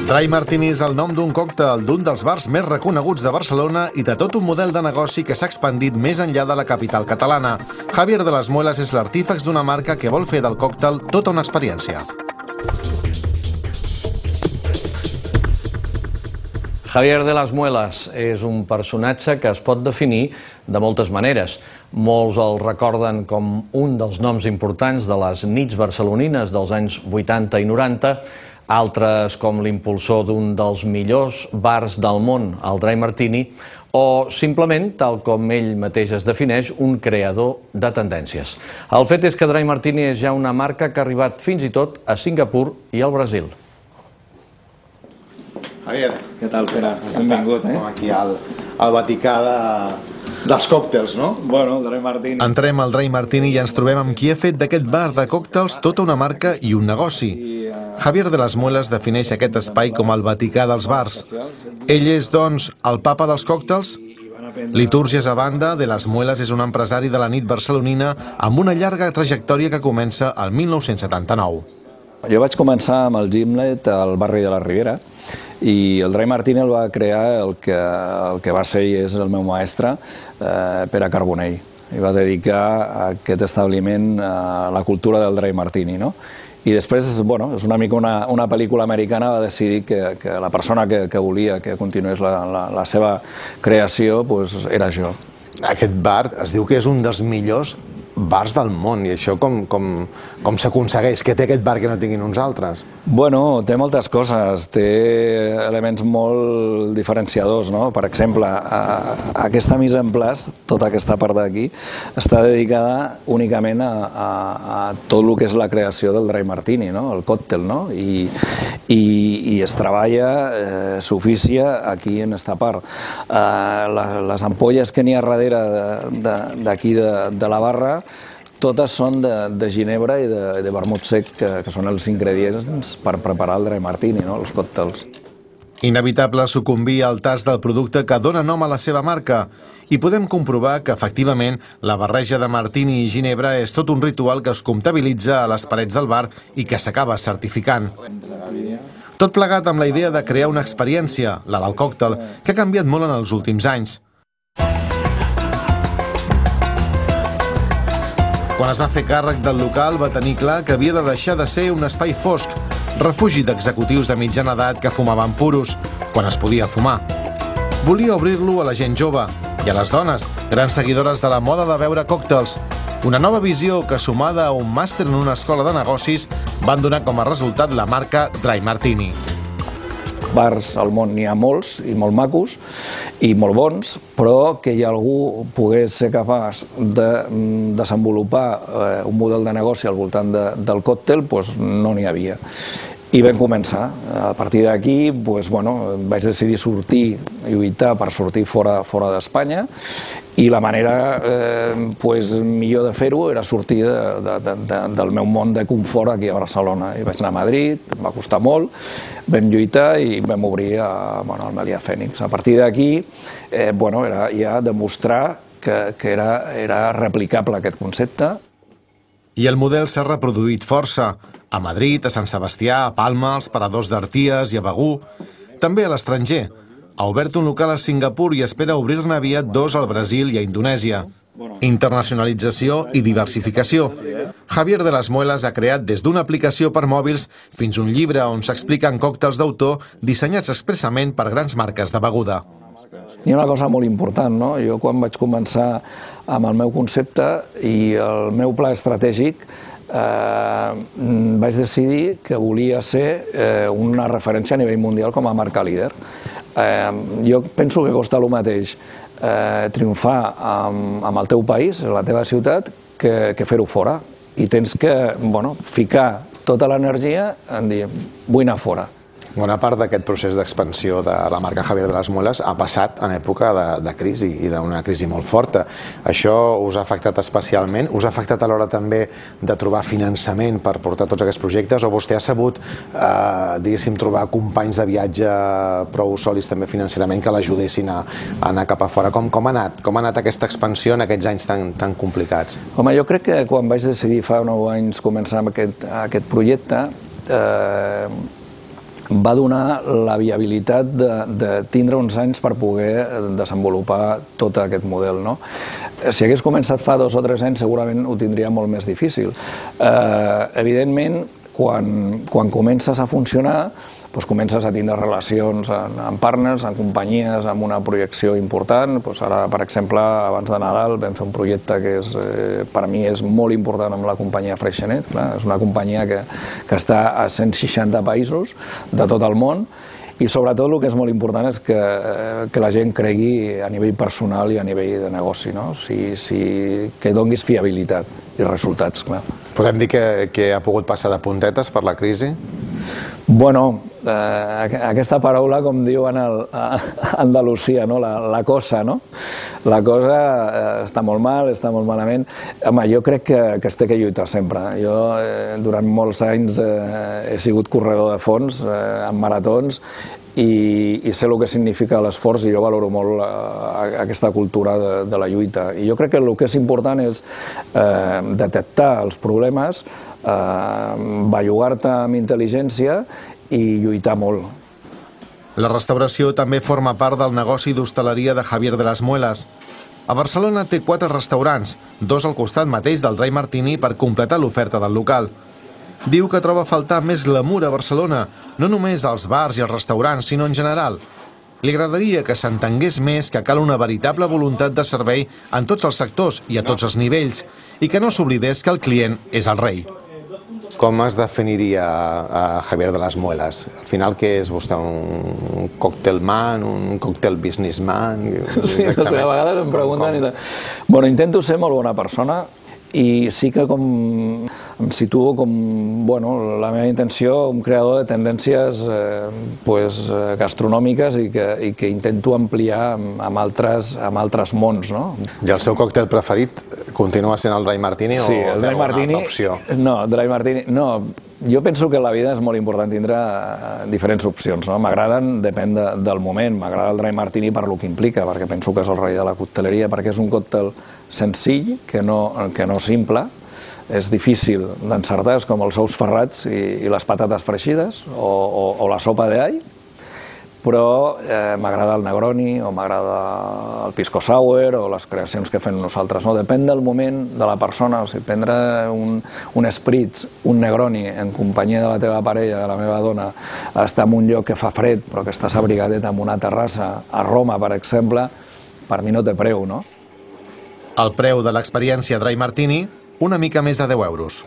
Dry Martini és el nom d'un còctel d'un dels bars més reconeguts de Barcelona i de tot un model de negoci que s'ha expandit més enllà de la capital catalana. Javier de las Muelas és l'artífex d'una marca que vol fer del còctel tota una experiència. Javier de las Muelas és un personatge que es pot definir de moltes maneres. Molts el recorden com un dels noms importants de les nits barcelonines dels anys 80 i 90, altres com l'impulsor d'un dels millors bars del món, el Dry Martini, o simplement, tal com ell mateix es defineix, un creador de tendències. El fet és que Dry Martini és ja una marca que ha arribat fins i tot a Singapur i al Brasil. Javier. Què tal, Pere? Benvingut, eh? Aquí al Vaticà dels còctels, no? Bueno, el Dry Martini. Entrem al Dry Martini i ens trobem amb qui ha fet d'aquest bar de còctels tota una marca i un negoci. Javier de las Muelas defineix aquest espai com el Vaticà dels bars. Ell és, doncs, el papa dels còctels? Litúrgies a banda, de las Muelas és un empresari de la nit barcelonina amb una llarga trajectòria que comença al 1979. Jo vaig començar amb el Gimlet al barri de la Ribera i el Dry Martini el va crear el que va ser i és el meu mestre, Pere Carbonell. I va dedicar a aquest establiment a la cultura del Dry Martini, no? I després, bueno, és una mica una pel·lícula americana, va decidir que la persona que volia que continués la seva creació era jo. Aquest bar es diu que és un dels millors bars del món, i això com s'aconsegueix? Què té aquest bar que no tinguin uns altres? Bueno, té moltes coses, té elements molt diferenciadors, no? Per exemple, aquesta mise en place, tota aquesta part d'aquí, està dedicada únicament a tot el que és la creació del Dry Martini, no? El còctel, no? I es treballa, s'oficia aquí en aquesta part. Les ampolles que n'hi ha darrere d'aquí de la barra, totes són de ginebra i de vermut sec, que són els ingredients per preparar el Dry Martini, els còctels. Inevitable sucumbir al tast del producte que dona nom a la seva marca i podem comprovar que, efectivament, la barreja de martini i ginebra és tot un ritual que es comptabilitza a les parets del bar i que s'acaba certificant. Tot plegat amb la idea de crear una experiència, la del còctel, que ha canviat molt en els últims anys. Quan es va fer càrrec del local va tenir clar que havia de deixar de ser un espai fosc, refugi d'executius de mitjana edat que fumaven puros, quan es podia fumar. Volia obrir-lo a la gent jove i a les dones, grans seguidores de la moda de beure còctels. Una nova visió que, sumada a un màster en una escola de negocis, van donar com a resultat la marca Dry Martini. Bars al món n'hi ha molts i molt macos i molt bons, però que algú pogués ser capaç de desenvolupar un model de negoci al voltant del còctel, no n'hi havia. I vam començar. A partir d'aquí vaig decidir sortir, lluitar per sortir fora d'Espanya, i la manera millor de fer-ho era sortir del meu món de confort aquí a Barcelona. I vaig anar a Madrid, em va costar molt, vam lluitar i vam obrir el Melià Fènix. A partir d'aquí era ja demostrar que era replicable aquest concepte. I el model s'ha reproduït força. A Madrid, a Sant Sebastià, a Palma, als paradors d'Arties i a Begur. També a l'estranger. Ha obert un local a Singapur i espera obrir-ne aviat 2 al Brasil i a Indonèsia. Internacionalització i diversificació. Javier de las Muelas ha creat des d'una aplicació per mòbils fins un llibre on s'expliquen còctels d'autor dissenyats expressament per grans marques de beguda. Hi ha una cosa molt important, no? Jo quan vaig començar amb el meu concepte i el meu pla estratègic vaig decidir que volia ser una referència a nivell mundial com a marca líder. Jo penso que costa el mateix triomfar amb el teu país, la teva ciutat, que fer-ho fora. I tens que ficar tota l'energia en dir, vull anar fora. Bona part d'aquest procés d'expansió de la marca Javier de las Muelas ha passat en època de crisi i d'una crisi molt forta. Això us ha afectat especialment? Us ha afectat a l'hora també de trobar finançament per portar tots aquests projectes? O vostè ha sabut, diguéssim, trobar companys de viatge prou sòlids també financerament que l'ajudessin a anar cap a fora? Com ha anat aquesta expansió en aquests anys tan complicats? Home, jo crec que quan vaig decidir fa 9 anys començar amb aquest projecte, va donar la viabilitat de tindre uns anys per poder desenvolupar tot aquest model, no? Si hagués començat fa 2 o 3 anys segurament ho tindria molt més difícil. Evidentment, quan comences a funcionar, doncs comences a tindre relacions amb partners, amb companyies, amb una projecció important. Ara, per exemple, abans de Nadal vam fer un projecte que per a mi és molt important amb la companyia Freixenet. És una companyia que està a 160 països de tot el món i sobretot el que és molt important és que la gent cregui a nivell personal i a nivell de negoci, que donguis fiabilitat i resultats, clar. Podem dir que ha pogut passar de puntetes per la crisi? Bueno, aquesta paraula, com diuen a Andalusia, la cosa, no? La cosa està molt mal, està molt malament. Home, jo crec que es té que lluitar sempre. Jo, durant molts anys, he sigut corredor de fons, en maratons, i sé el que significa l'esforç i jo valoro molt aquesta cultura de la lluita. I jo crec que el que és important és detectar els problemes, bellugar-te amb intel·ligència i lluitar molt. La restauració també forma part del negoci d'hostaleria de Javier de las Muelas. A Barcelona té 4 restaurants, 2 al costat mateix del Dry Martini per completar l'oferta del local. Diu que troba a faltar més glamour a Barcelona, no només als bars i als restaurants, sinó en general. Li agradaria que s'entengués més que cal una veritable voluntat de servei en tots els sectors i a tots els nivells, i que no s'oblidés que el client és el rei. Com es definiria a Javier de las Muelas? Al final, què és vostè? Un cocktailman, un cocktail businessman? Sí, no sé, a vegades em pregunten... Bueno, intento ser molt bona persona i sí que em situo com, bueno, la meva intenció, un creador de tendències gastronòmiques i que intento ampliar amb altres mons, no? I el seu còctel preferit continua sent el Dry Martini o té alguna altra opció? No, Dry Martini, no. Jo penso que a la vida és molt important tindre diferents opcions, no? M'agraden, depèn del moment. M'agrada el Dry Martini per lo que implica, perquè penso que és el rei de la cocteleria, perquè és un còctel senzill, que no simple, és difícil d'encertar, és com els ous ferrats i les patates freixides o la sopa d'all, però m'agrada el Negroni o m'agrada el Pisco Sour o les creacions que fem nosaltres. Depèn del moment de la persona. O sigui, prendre un Spritz, un Negroni en companyia de la teva parella, de la meva dona, estar en un lloc que fa fred però que estàs abrigadet en una terrassa a Roma, per exemple, per mi no té preu, no? El preu de l'experiència Dry Martini, una mica més de 10 euros.